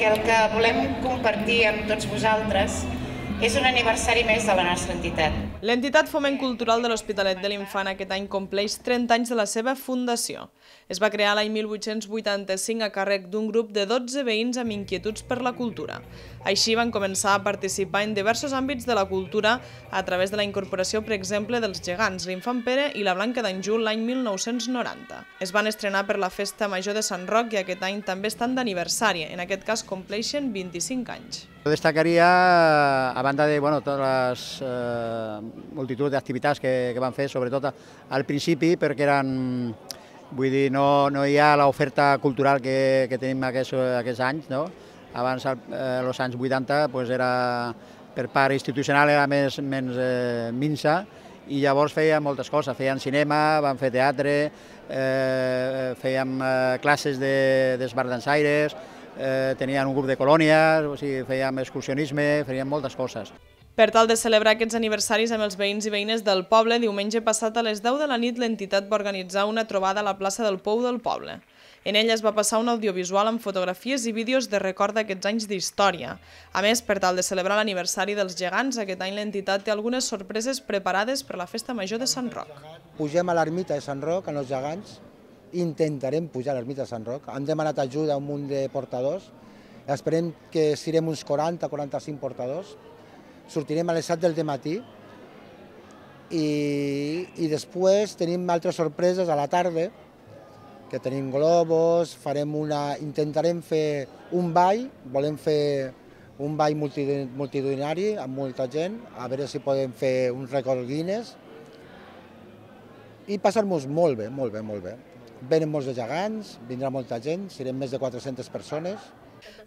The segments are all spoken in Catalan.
El que volem compartir amb tots vosaltres és un aniversari més de la nostra entitat. L'entitat Foment Cultural de l'Hospitalet de l'Infant aquest any compleix 30 anys de la seva fundació. Es va crear l'any 1885 a càrrec d'un grup de 12 veïns amb inquietuds per la cultura. Així van començar a participar en diversos àmbits de la cultura a través de la incorporació, per exemple, dels Gegants, l'Infant Pere i la Blanca d'Anjou l'any 1990. Es van estrenar per la Festa Major de Sant Roc i aquest any també estan d'aniversari, en aquest cas compleixen 25 anys. Destacaria, a banda de totes les multitud d'activitats que van fer, sobretot al principi, perquè eren, vull dir, no hi ha l'oferta cultural que tenim aquests anys, no? Abans, als anys 80, era, per part institucional era menys minsa, i llavors feien moltes coses, feien cinema, van fer teatre, fèiem classes d'esbardansaires, tenien un grup de colònies, o sigui, fèiem excursionisme, fèiem moltes coses. Per tal de celebrar aquests aniversaris amb els veïns i veïnes del poble, diumenge passat a les 10 de la nit l'entitat va organitzar una trobada a la plaça del Pou del poble. En ella es va passar un audiovisual amb fotografies i vídeos de record d'aquests anys d'història. A més, per tal de celebrar l'aniversari dels Gegants, aquest any l'entitat té algunes sorpreses preparades per la Festa Major de Sant Roc. Pugem a l'ermita de Sant Roc, amb els Gegants, intentarem pujar a l'ermita de Sant Roc. Hem demanat ajuda a un munt de portadors, esperem que siguem uns 40-45 portadors. Sortirem a les 7 del matí i després tenim altres sorpreses a la tarda, que tenim globus, intentarem fer un ball, volem fer un ball multitudinari amb molta gent, a veure si podem fer un rècord Guinness i passar-nos molt bé, molt bé, molt bé. Venen molts de gegants, vindrà molta gent, serem més de 400 persones.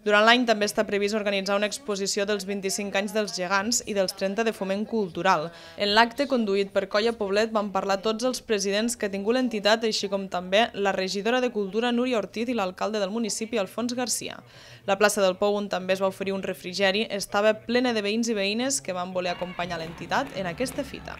Durant l'any també està previst organitzar una exposició dels 25 anys dels Gegants i dels 30 de Foment Cultural. En l'acte, conduït per Colla Poblet, van parlar tots els presidents que ha tingut l'entitat, així com també la regidora de Cultura Núria Ortiz i l'alcalde del municipi Alfons Garcia. La plaça del Pou, on també es va oferir un refrigeri, estava plena de veïns i veïnes que van voler acompanyar l'entitat en aquesta fita.